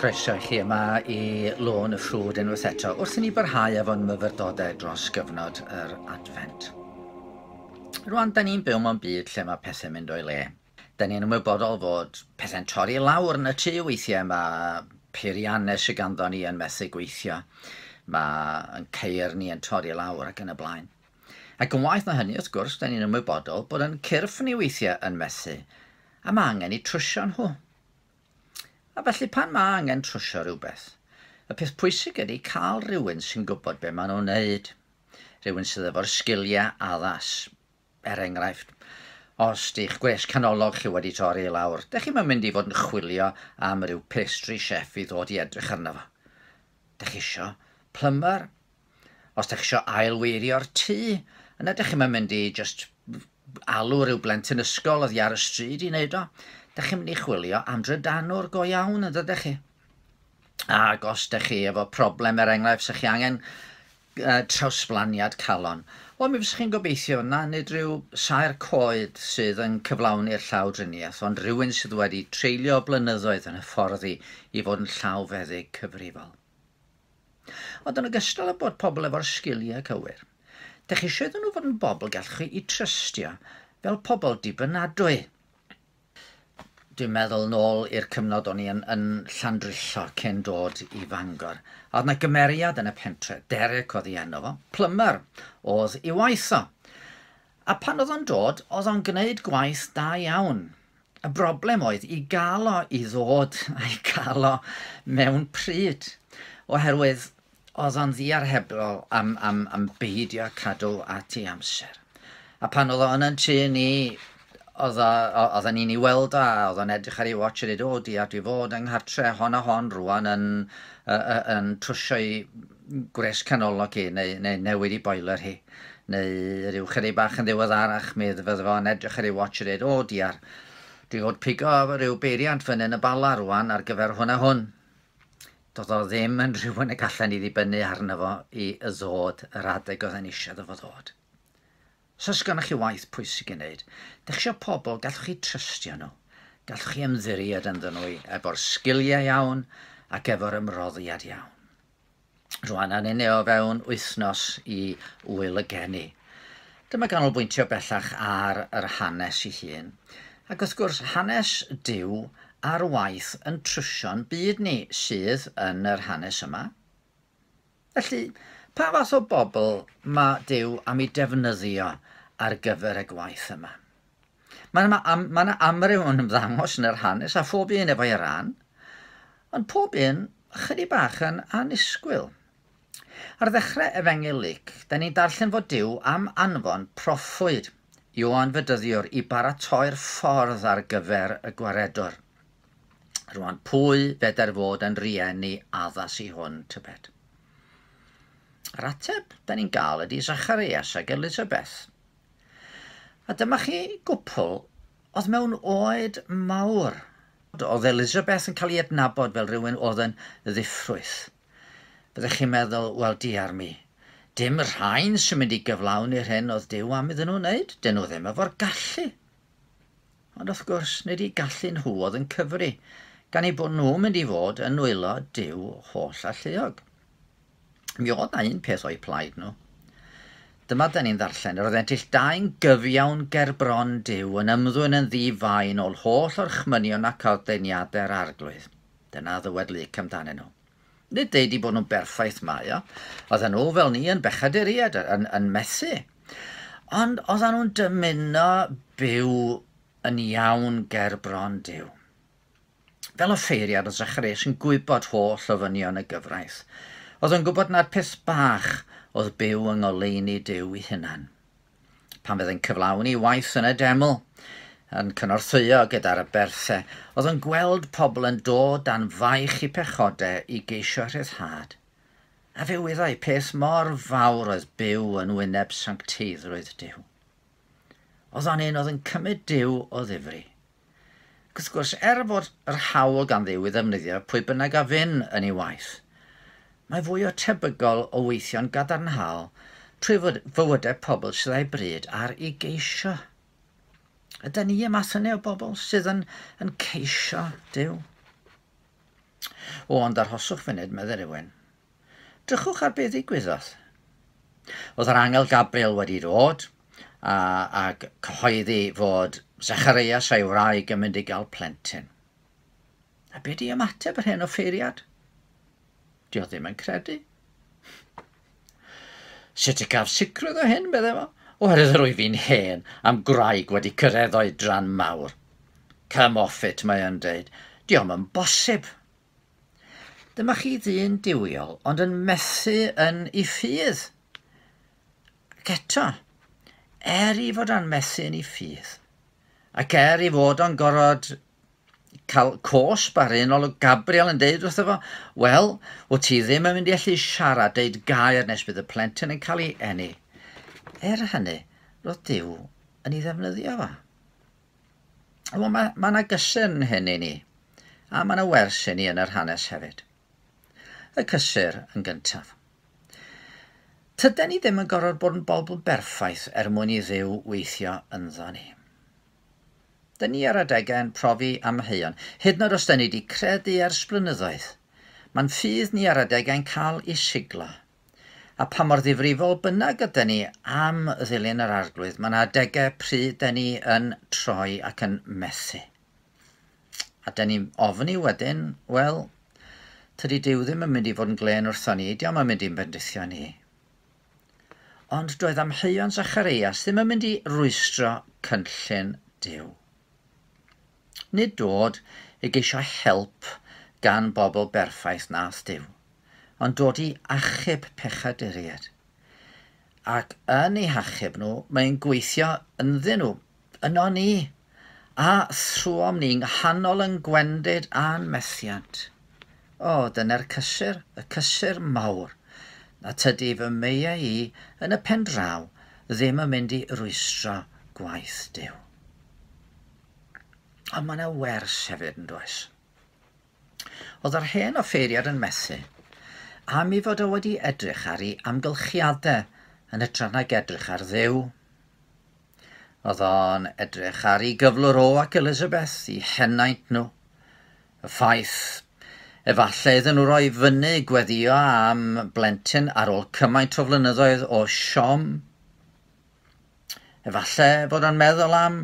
Croeso i chi yma i Lôn y Ffrwd unwaith eto, wrth i ni barhau efo'n myfyrdodau dros gyfnod yr Adfent. Rwan, da ni'n byw mewn byd lle mae pethau'n mynd o'i le. Da ni'n ymwybodol fod pethau'n torri lawr yn y tŷ weithiau, mae peiriannau sydd ganddo ni yn methu gweithio, mae yn ceir ni yn torri lawr ac yn y blaen. Ac yn waeth na hynny, wrth gwrs, da ni'n ymwybodol bod yn cyrff ni weithiau yn methu, a mae angen i trwsio nhw. A felly pan mae angen trwsio rhywbeth, y peth pwysig ydy cael rhywun sy'n gwybod be maen nhw'n wneud, rhywun sydd efo'r sgiliau addas. Er enghraifft, os di'ch gwres canolog chi wedi torri i lawr, dych chi'm yn mynd i fod yn chwilio am ryw pastry chef i ddod i edrych arno fo. Dych chi isio plumber. Os dych chi isio ailweirio'r tŷ, yna dych chi'm yn mynd i just alw rhyw blentyn ysgol oddi ar y stryd i wneud o. Dych chi'n mynd i chwilio am drydanwr go iawn, yn dydych chi? Ac os dych chi efo problem, er enghraifft, sa'ch chi angen trawsblaniad calon, wel, mi fysech chi'n gobeithio na nid rhyw saer coed sydd yn cyflawni'r llawdriniaeth, ond rhywun sydd wedi treulio blynyddoedd yn hyfforddi i fod yn llawfeddyg cyfrifol. Ond yn ogystal â bod pobl efo'r sgiliau cywir, dych chi eisiau iddyn nhw fod yn bobl gallwch chi eu trystio fel pobl dibynadwy. Dwi'n meddwl nôl i'r cyfnod o'n i yn, yn Llandrillo cyn dod i Fangor. A oedd 'na gymeriad yn y pentre, Derek oedd ei enw fo, plumber oedd ei waith o. A pan oedd o'n dod, oedd o'n gwneud gwaith da iawn. Y broblem oedd i gael o i ddod a'i gael o mewn pryd, oherwydd oedd o'n ddiarhebol am, am, am beidio cadw at ei amser. A pan oedd o yn yn tŷ ni, oedd oedden ni'n ei weld o, a oedd o'n edrych ar ei watch a dweud, o diar, dwi fod yng nghartre hon a hon rwan yn, uh, yn trwsio i gwres canolog hi, neu, neu newid i boiler hi. Neu ryw chydig bach yn ddiweddarach, mi fydde fo'n edrych ar ei watch a dweud, o diar, dwi fod pigo rhyw beiriant fyny yn y Bala rwan ar gyfer hwn a hwn. Doedd o ddim yn rhywun y gallen ni ddibynnu arno fo i ddod yr adeg oedd e'n eisiau iddo fo ddod. Os oes gennych chi waith pwysig i wneud, dych chi eisiau pobl gallwch chi trystio nhw, gallwch chi ymddiried ynddyn nhw efo'r sgiliau iawn ac efo'r ymroddiad iawn. Rwan, a'n unig o fewn wythnos i Ŵyl y Geni. Dyma ganolbwyntio bellach ar yr hanes ei hun. Ac wrth gwrs, hanes Duw ar waith yn trwsio'n byd ni sydd yn yr hanes yma. Felly, pa fath o bobl mae Duw am ei defnyddio ar gyfer y gwaith yma? Mae yna ma yna amryw yn ymddangos yn yr hanes, a phob un efo'i ran, ond pob un chydig bach yn annisgwyl. Ar ddechrau Efengyl Luc, da ni'n darllen fod Duw am anfon proffwyd, Ioan Fedyddiwr, i baratoi'r ffordd ar gyfer y Gwaredwr. Rwan, pwy fedr fod yn rieni addas i hwn, tybed? Yr ateb da ni'n gael ydy Zacharias ac Elizabeth. A dyma chi gwpl oedd mewn oed mawr. Oedd Elizabeth yn cael ei adnabod fel rhywun oedd yn ddiffrwyth. Byddech chi'n meddwl, wel diar mi, dim rhain sy'n mynd i gyflawni'r hyn oedd Duw am iddyn nhw wneud, dyn nhw ddim efo'r gallu. Ond wrth gwrs, nid eu gallu nhw oedd yn cyfri, gan eu bod nhw'n mynd i fod yn nwylo Duw holl alluog. Mi oedd na un peth o'u plaid nhw. Dyma da ni'n ddarllen, yr oeddent ill dau'n gyfiawn ger bron Duw, yn ymddwyn yn ddi-fai ôl holl orchmynion ac ordeiniadau'r Arglwydd. Dyna ddywed Luc amdanyn nhw. Nid deud i bod nhw'n berffaith mae o. Oedden nhw fel ni yn bechaduriaid, yn, yn methu. Ond oedden nhw'n dymuno byw yn iawn ger bron Duw. Fel offeiriad oedd Zacharias yn gwybod holl ofynion y gyfraith. Oedd yn gwybod nad peth bach oedd byw yng ngoleuni Duw ei hunan. Pan fydd yn cyflawni waith yn y deml, yn cynorthwyo gyda'r aberthau, oedd yn gweld pobl yn dod dan faich i pechodau i geisio rhyddhad. A fe wyddai peth mor fawr oedd byw yn wyneb sancteiddrwydd Duw. Oedd o'n un oedd yn cymryd Duw o ddifri. Ac wrth gwrs, er fod yr hawl gan Dduw i ddefnyddio pwy bynnag a fyn yn ei waith, mae fwy o tebygol o weithio'n gadarnhaol trwy fywydau pobl sydd â'i bryd ar ei geisio. Ydy ni y math yna o bobl sydd yn, yn ceisio Duw? O, ond arhoswch funud, medde rhywun. Drychwch ar beth ddigwyddodd. Oedd yr angel Gabriel wedi dod ac cyhoeddi fod Zacharias a'i wraig yn mynd i gael plentyn. A be di ymateb yr hen offeiriad? Di o ddim yn credu. Sut y gaf sicrwydd o hyn, medde fo? Oherwydd yr wyf fi'n hen am gwraig wedi cyrraedd oedran mawr. Come off it, mae o'n deud. Dio'm yn bosib. Dyma chi ddyn duwiol, ond yn methu yn ei ffydd. Ac eto, er i fod o'n methu yn ei ffydd, ac er i fod o'n gorfod cael cosb ar un ôl Gabriel yn deud wrtho fo, wel, wyt ti ddim yn mynd i allu siarad, deud gair nes bydd y plentyn yn cael ei eni. Er hynny, roedd Duw yn ei ddefnyddio fo. Wel, mae yna gysur yn hyn i ni, a mae yna wers i ni yn yr hanes hefyd. Y cysur yn gyntaf. Tyden ni ddim yn gorfod bod yn bobl berffaith er mwyn i Dduw weithio ynddo ni. Dyn ni ar adegau yn profi amheuon, hyd yn oed os dyn ni wedi credu ers blynyddoedd. Mae'n ffydd ni ar adegau'n cael ei siglo. A pa mor ddifrifol bynnag ydyn ni am ddilyn yr Arglwydd, mae yna adegau pryd dyn ni yn troi ac yn methu. A dyn ni'n ofni wedyn, wel, tydi Duw ddim yn mynd i fod yn glên wrthon ni, dio'm yn mynd i'n bendithio ni. Ond doedd amheuon Zacharias ddim yn mynd i rwystro cynllun Duw. Nid dod i geisio help gan bobl berffaith nath Duw, ond dod i achub pechaduriaid. Ac yn eu hachub nhw, mae'n gweithio ynddyn nhw, yno ni, a thrwom ni nghanol yn gwendid a'n methiant. O, dyna'r cysur, y cysur mawr, na tydi fy meiau i yn y pen draw ddim yn mynd i rwystro gwaith Duw. Ond mae yna wers hefyd yn does. Oedd yr hen offeiriad yn methu, am ei fod o wedi edrych ar ei amgylchiadau yn hytrach nag edrych ar Dduw. Oedd o'n edrych ar ei gyflwr o ac Elizabeth, i henaint nhw. Y ffaith efallai iddyn nhw roi fyny gweddio am blentyn ar ôl cymaint o flynyddoedd o siom. Efallai fod o'n meddwl am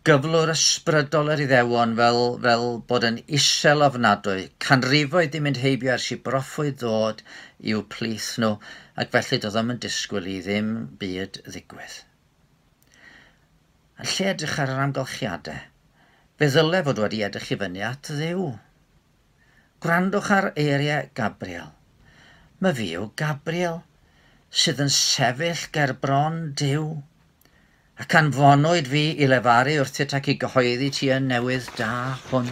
gyflwr ysbrydol yr Iddewon fel bod yn isel ofnadwy, canrifoedd di mynd heibio ers i broffwyd ddod i'w plith nhw, ac felly doedd o'm yn disgwyl i ddim byd ddigwydd. Yn lle edrych ar yr amgylchiadau, fe ddyle fod wedi edrych i fyny at Dduw. Gwrandwch ar eiriau Gabriel. Mae fi yw Gabriel, sydd yn sefyll ger bron Duw, ac anfonwyd fi i lefaru wrthyt ac i gyhoeddi ti y newydd da hwn.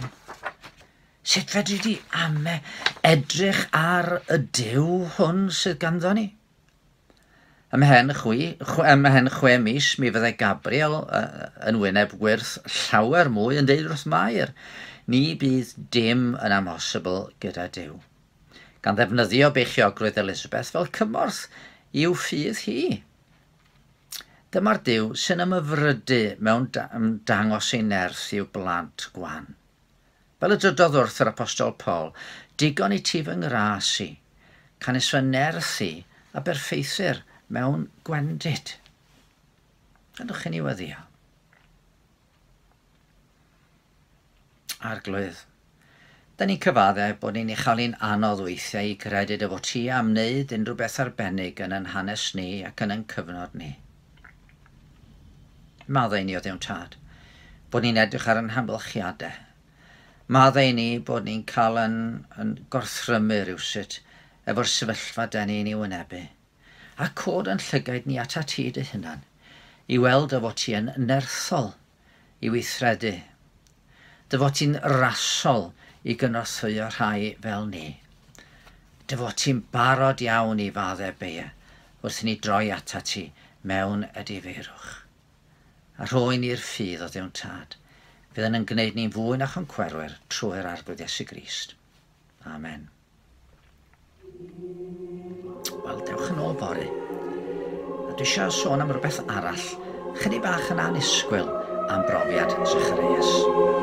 Sut fedri di ame edrych ar y Duw hwn sydd ganddo ni? Ymhen 6 mis mi fyddai Gabriel yn wyneb wyrth llawer mwy yn deud wrth Mair, ni bydd dim yn amhosibl gyda Duw. Gan ddefnyddio beichiogrwydd Elizabeth fel cymorth i'w ffydd hi. Dyma'r Duw sy'n ymhyfrydu mewn dangos ei nerth i'w blant gwan. Fel y dydodd wrth yr Apostol Paul, digon i ti fy ngras i, canys fy nerth i a berffeithir mewn gwendid. Gadwch i ni weddio. Arglwydd, da ni'n cyfaddau bod ni'n ei chael hi'n anodd weithiau i gredu dy fod ti am wneud unrhyw beth arbennig yn ein hanes ni ac yn ein cyfnod ni. Maddau ni o Dduw Tad, bod ni'n edrych ar ein hamgylchiadau. Maddau ni bod ni'n cael yn gorthrymu rhywsut efo'r sefyllfa da ni'n ei wynebu. A cod yn llygaid ni atat ti dy hunan, i weld dy fod ti yn nerthol i weithredu, dy fod ti'n rasol i gynorthwyo rhai fel ni, dy fod ti'n barod iawn i faddau beia wrth i ni droi atat ti mewn edifeirwch. A rhoi ni'r ffydd o Dduw Tad, fydd yn gwneud ni'n fwy na choncwerwyr trwy'r Arglwydd Iesu Grist. Amen. Wel, dewch yn ôl fory. A dwi eisiau sôn am rhywbeth arall, chydig bach yn annisgwyl am brofiad Zacharias.